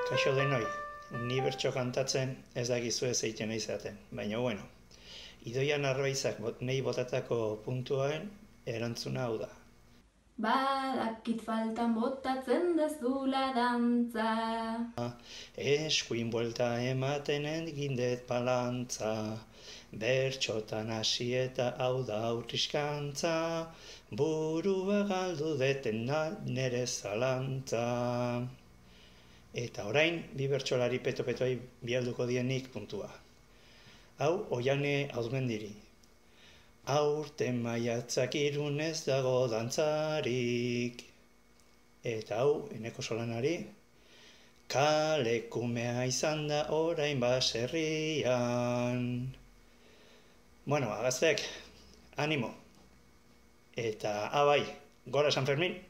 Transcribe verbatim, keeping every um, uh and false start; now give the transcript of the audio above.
Kaixo denoi, ni bertso kantatzen ez dakizue zeiten izaten, baina bueno, Idoia Narbaizak nei botatako puntuaren erantzuna hau da. Badakit faltan botatzen dezula dantza. Eskuin buelta ematen egindet balantza, bertxotan hasi eta hau da aurriskantza, burua galdu deten nere zalantza. Eta orain, bi bertsolari peto-petoi bialduko dienik puntua. Hau, Oiane Auzmendiri. Aurten maiatzak irun ez dago dantzarik. Eta hau, Eneko Solanari. Kalekumea izan da orain baserrian. Bueno, agaztek, animo. Eta, abai, gora San Fermin!